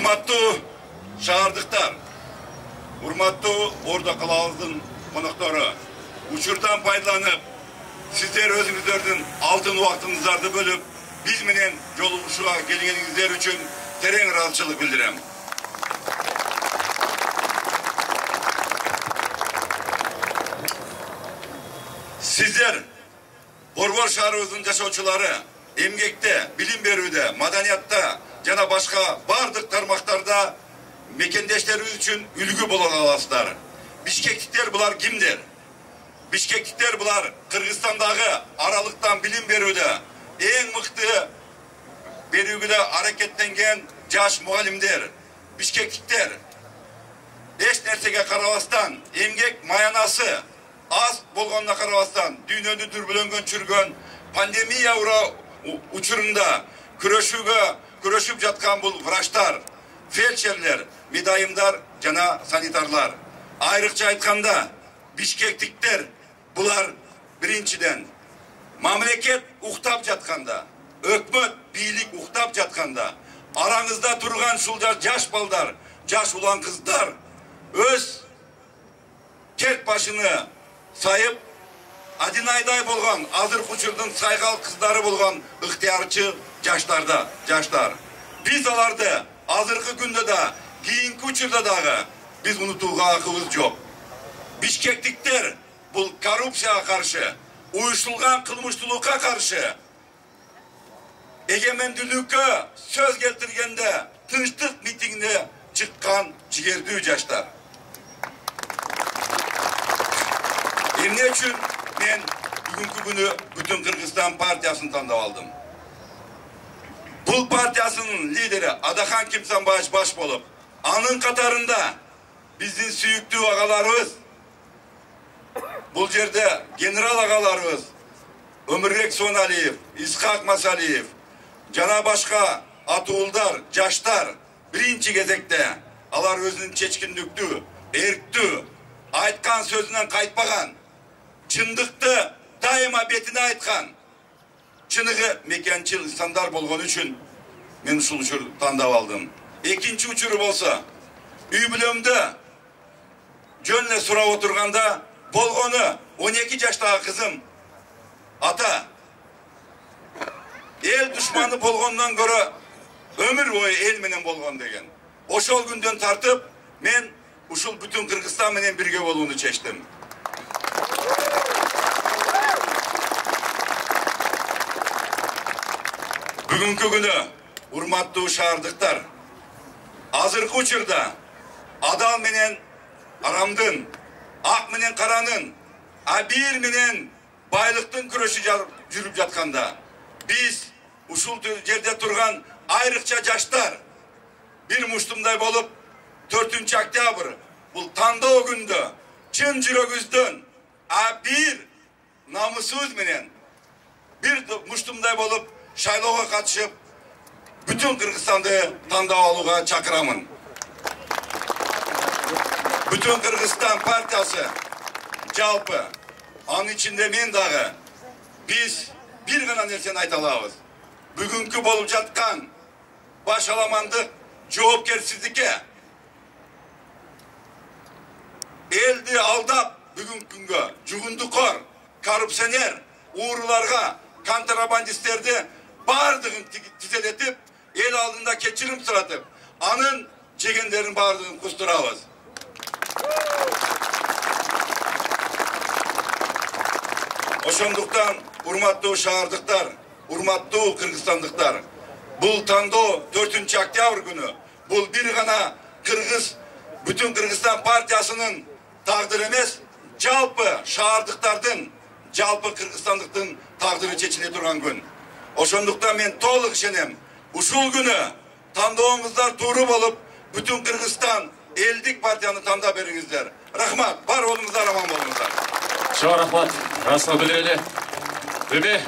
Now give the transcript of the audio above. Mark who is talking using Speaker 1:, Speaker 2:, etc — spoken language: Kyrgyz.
Speaker 1: Урматтуу шаардыктар, урматтуу Ордо калабыбыздын коноктору, учурдан пайдаланып, сиздер өзүңүздөрдүн алтын убактыңыздарды бөлүп, биз менен жолугушууга келгениңиздер үчүн терең ыраазычылык билдирем. Сиздер Борбор шаарыбыздын жашоочулары эмгекте, билим берүүдө, маданиятта жана башка бардык тармактарда мекендештерибиз үчүн үлгү боло аласыздар. Бишкектиктер булар кимдер? Бишкектиктер булар Кыргызстандагы аралыктан билим берүүдө эң мыкты берүүгө аракеттенген жаш мугалимдер. Бишкектиктер эч нерсеге карабастан, эмгек маянасы аз болгонуна карабастан, дүйнөнү дүрбөлөнгөн чүргөн пандемия учурунда күрөшүп жаткан бул врачтар, фельдшерлер, медайымдар жана санитарлар. Айрыкча айтканда, бишкектиктер булар биринчиден мамлекет уктап жатканда, өкмөт, бийлик уктап жатканда, араңызда турган ушул жаш балдар, жаш улан кыздар өз керт башыны сайып, один айдай болгон, азыркы учурдун сайгал кыздары болгон ыктыярчы жаштар. Биз аларды азыркы күндө да, кийинки учурда дагы биз унутууга акыбыз жок. Бишкектиктер бул коррупцияга каршы, уюштулган кылмыштуулукка каршы, эгемендүүлүккө сөз келтиргенде тынчтык митингине чыккан жигердүү жаштар. Эмне үчүн мен бүгүнкү күнү Бүтүн Кыргызстан партиясын тандап алдым? Бул партиясынын лидери Адахан Кимсанбаевич баш болуп, анын катарында биздин сүйүктүү агаларыбыз, бул жерде генерал агаларыбыз Өмүрбек Соналиев, Исхак Масалиев жана башка атуулдар, жаштар биринчи кезекте алар өзүнүн чечкиндиктүү, эрктүү, айткан сөзүнөн кайтпаган, чындыкты дайыма бетине айткан, чыныгы мекенчил инсандар болгон үчүн мен ушул учурду тандап алдым. Экинчи учуру болсо, үй бүлөмдө жөн эле сурап отурганда болгону 12 жаштагы кызым: ата, эл душманы болгондон көрө өмүр бою эл менен болгон деген. Ошол күндөн тартып мен ушул Бүтүн Кыргызстан менен бирге болууну чечтим. Бүгүнкү күнү урматтуу шаардыктар, азыркы учурда адал менен арамдын, ак менен каранын, абийир менен байлыктын күрөшү жүрүп жатканда, биз ушул жерде турган айрыкча жаштар бир муштумдай болуп 4-октябрь бул тандоо күндө чын жүрөгүбүздөн абийир намысыбыз менен бир муштумдай болуп шайлоого катышып, Бүтүн Кыргызстанды тандап алууга чакырамын. Бүтүн Кыргызстан партиясы жалпы, анын ичинде мен дагы, биз бир гана нерсени айта алабыз. Бүгүнкү болуп жаткан башаламандык, жоопкерсиздикке, элди алдап бүгүнкү күнгө жугундукор, коррупционер, ууруларга, контрабандисттерди бардыгын тизелетип, эл алдында кечирим суратып, анын жегендерин бардыгын кустурабыз. Ошондуктан урматтуу шаардыктар, урматтуу кыргызстандыктар, бул тандоо 4-октябрь күнү бул бир гана Бүтүн Кыргызстан партиясынын тагдыры эмес, жалпы шаардыктардын, жалпы кыргызстандыктын тагдыры чечиле турган күн. Ошондуктан мен толук ишенем, ушул күнү тандооңуздар тууру болуп, Бүтүн Кыргызстан элдик партияны тандап бериңиздер. Рахмат, бар болуңуздар, аман болуңуздар.
Speaker 2: Чоң рахмат, расына билдирели.